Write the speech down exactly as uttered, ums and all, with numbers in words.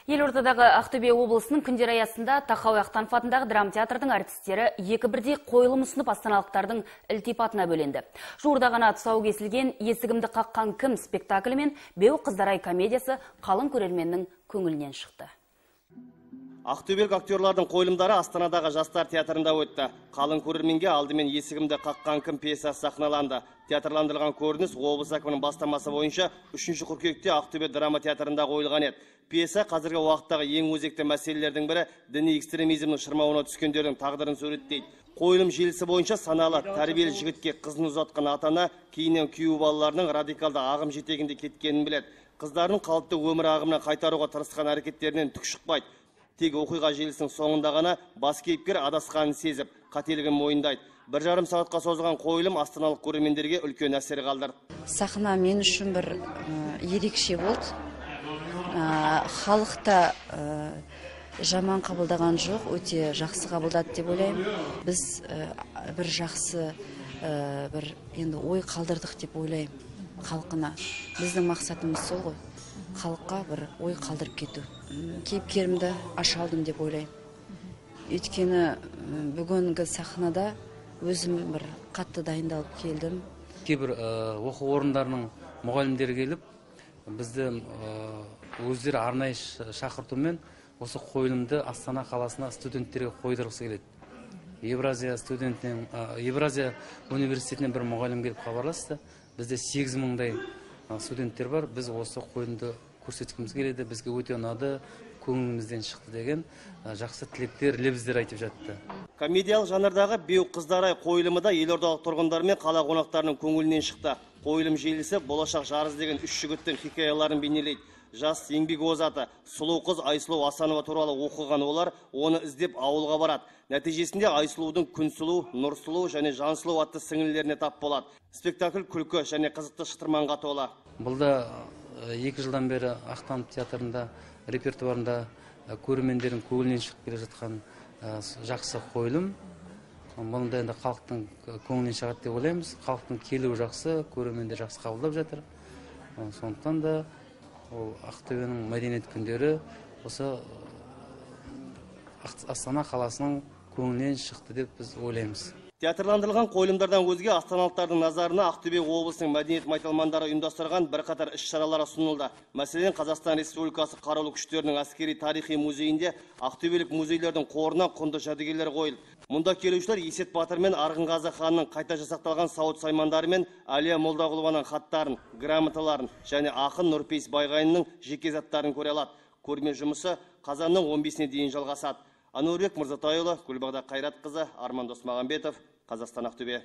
Елордадағы Ақтөбе облысының күндер аясында Тахауи Ахтанов атындағы драма театрдың артистері екі бірдей қойылым ұсынып астаналықтардың ілтипатына бөленді. Жуырда ғана тұсауы кесілген «Есігімді қаққан кім» спектаклі мен «Беу қыздарай» комедиясы қалың көрерменнің көңілінен шықты. Ақтөбелік актерлардың қойылымдары Астанадағы жастар театрында өтті. Қалың көрерменге алдымен «Есігімді қаққан кім» пьесасы сахналанды. Театрландырылған көрініс облыс әкімінің бастамасы бойынша үшінші қыркүйекте Ақтөбе драма театрында қойылған еді. Пьеса қазіргі уақыттағы ең өзекті мәселелердің бірі діни экстремизмнің шырмауына түскендердің тағдырын суреттейді. Қойылым желісі бойынша саналы тәрбиелі жігітке қызын ұзатқан ата-ана кейіннен күйеу балаларының радикалды ағым жетегінде кеткенін біледі. Қыздарының қалыпты өмір ағымына қайтаруға тырысқан әрекеттерінен түк шықпайды. Тек оқиға желісінің соңында ғана бас кейіпкер адасқанын сезіп, қателігін мойындайды. Бір жарым сағатқа созылған қойылым астаналық көрермендерге үлкен әсер қалдырды. Сахна мен үшін бір ерекше болды. Халықта жаман қабылдаған жоқ, өте жақсы қабылдады деп ойлаймын. Біз бір жақсы бір енді ой қалдырдық деп ойлаймын халқына. Біздің мақсатымыз сол ғой. Халыққа бір ой қалдырып кету. Кейіпкерімді аша алдым деп ойлаймын. Өйткені бүгінгі сахнада өзім бір қатты дайындалып келдім. Кейбір оқу орындарының мұғалімдері келіп, бізді өздері арнайы шақыртумен осы қойылымды Астана қаласына студенттерге қойдырғысы келеді. Евразия студентінен, Евразия университетінен бір мұғалім келіп хабарласты. Бізде сегіз мыңдай студенттер бар. Біз осы қойылымды көрсеткіміз келеді, бізге өте ұнады, көңілімізден шықты деген жақсы тілектер, лебіздер айтып жатты. Комедиялық жанрдағы «Беу қыздарай» қойылымы да елордалық тұрғындар мен қала қонақтарының көңілінен шықты. Қойылым желісі болашақ жарыз деген үш жігіттің хикаяларын бейнелейді. Жас еңбек озаты, сұлу қыз Айсұлу Асанова туралы оқыған олар оны іздеп ауылға барады. Нәтижесінде Айсұлудың Күнсұлу, Нұрсұлу және Жансұлу атты сіңілілеріне тап болады. Спектакль күлкі және қызықты шытырманға тола. Бұлда екі жылдан бері Ахтанов театрында репертуарында көрермендердің көңілінен шығып келе жатқан жақсы қойылым. Бұнда енді халықтың көңілінен шығады деп ойлаймыз. Халықтың келуі жақсы, көрермендер жақсы қабылдап жатыр. Сондықтан да ол Ақтөбенің мәдениет күндері осы Астана қаласының көңілінен шықты деп біз ойлаймыз. Театрландырылған қойылымдардан өзге астаналықтардың назарына Ақтөбе облысының мәдениет майталмандары ұйымдастырған бірқатар іс-шаралар ұсынылды. Мәселен, Қазақстан Республикасы Қарулы күштерінің әскери тарихи музейінде Ақтөбелік музейлердің қорына құнды жәдігерлер қойылды. Мұнда келушілер Есет Батыр мен Арғынғазы ханның қайта жасақталған сауыт саймандары мен Әлия Молдағұлованың хаттарын, грамоталарын және ақын Нұрпейіс Байғайынның жеке заттарын көре алады. Көрме жұмысы қазанның он бесіне дейін жалғасады. Ануарбек Мырзатайұлы, Гүлбағдат Қайратқызы, Арман Досмағамбетов, Қазақстан Ақтөбе.